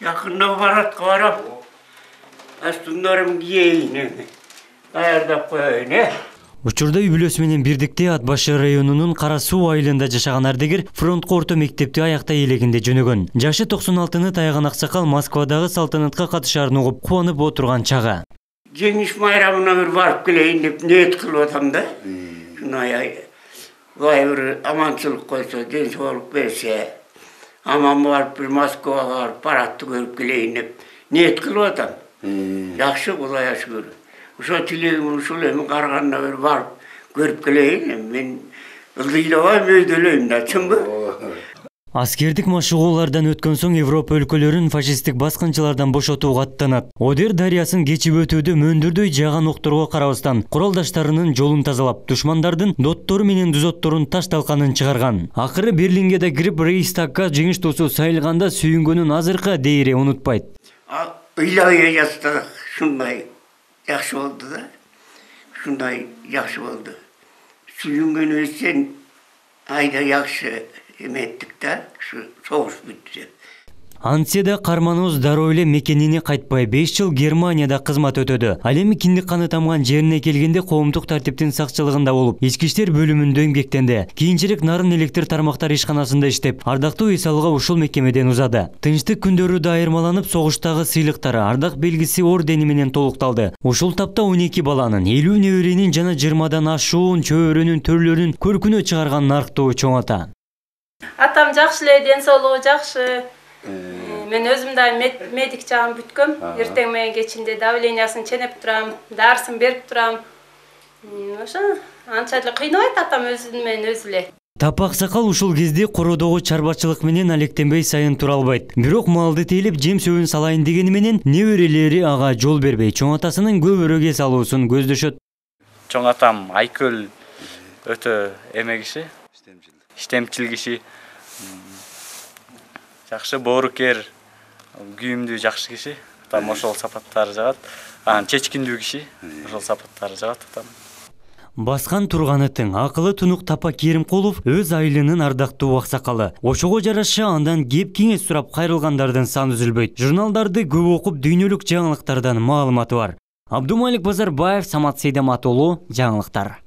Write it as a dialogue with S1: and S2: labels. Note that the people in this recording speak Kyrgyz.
S1: Yakında baratga barap. Астундарым кийин. Даярдап коеюн,
S2: Учурда үй бүлөсү менен бирдикте Ат башы районунун Кара Суу айылында жашаган ардегер фронтко орто мектепти аяктай элегинде жөнөгөн. Жашы 96-ны таяган аксакал Москвадагы салтанатка катышаарын угуп кубанып отурган чагы.
S1: Жеңиш майрамына бир барып келейин деп ниет кылып атам да. Шундай бир аманчылык койсо, ден соолук берсе, аман барып бир Москвага барып парадты көрүп келейин деп ниет кылып атам. Жакшы, Кудайга шүгүр. Ошо тилегим ушул эми караганда бир барып көрүп келейин. Мен ылдыйлабай мөйдөлөйм да, чынбы?
S2: Аскердик машыгуулардан өткөн соң Европа өлкөлөрүн фашисттик баскынчылардан бошотууга аттанат. Одер дарыясын кечип өтүүдө мөндүрдөй жааган окторго карабастан куралдаштарынын жолун тазалап, душмандардын доттору менен дузотторун таш талканын чыгарган. Акыры Берлинге да кирип Рейхстагга жеңиш туусу сайылганда сүйүнгөнүн азыркы дейре унутпайт.
S1: Ыйлабай жатты, шундай жакшы болду да. Шундай жакшы болду. Сүйүнгөнүбүз сен айда жакшы эметтик да, согуш бүттү.
S2: Антсе да карманыбыз дароо эле мекенине кайтпай 5 жыл Германияда кызмат өтөдү. Ал эми киндик каны тамган жерине келгенде коомдук тартиптин сакчылыгында болуп, ички иштер бөлүмүндө эмгектенди. Кийинчерээк Нарын электр тармактар ишканасында иштеп, ардактуу эс алууга ушул мекемеден узады. Тынчтык күндөрү да айырмаланып, согуштагы сыйлыктары, ардак белгиси ордени менен толукталды. Ушул тапта 12 баланын, 50 неберенин жана 20дан ашуун чөбөрөнүн төрлөрүн көркүнө чыгарган нарктуу чоң ата.
S3: Атам жакшы эле, ден соолугу жакшы. Мен өзүм да медик жагын бүткөм. Эртең менен кечинде давлениясын ченеп турам, дарысын берип турам. Ошо анча эле кыйнабайт атам өзү менен өзү эле.
S2: Тапак сакал ушул кезде кородогу чарбачылык менен алектенбей сайын тура албайт. Бирок малды тейлеп жем сөбүн салайын дегени менен неберелери ага жол бербей, чоң атасынын көбүрөк эс алуусун көздөшөт.
S4: Чоң атам Айкөл өтө эме киши, иштемчил киши. Жакшы боорукер, күйүмдүү жакшы киши. Атам ошол сапаттары жагат. Чечкиндүү киши, ошол сапаттары жагат атам.
S2: Баскан турганы тың, акылы тунук Тапак Керимкулов өз айылынын ардактуу аксакалы. Ошого жараша андан кеп кеңес сурап кайрылгандардын саны үзүлбөйт. Журналдарды көп окуп, дүйнөлүк жаңылыктардан маалыматы бар. Абдумалик Базарбаев, Самат Сейдамат уулу, жаңылыктар.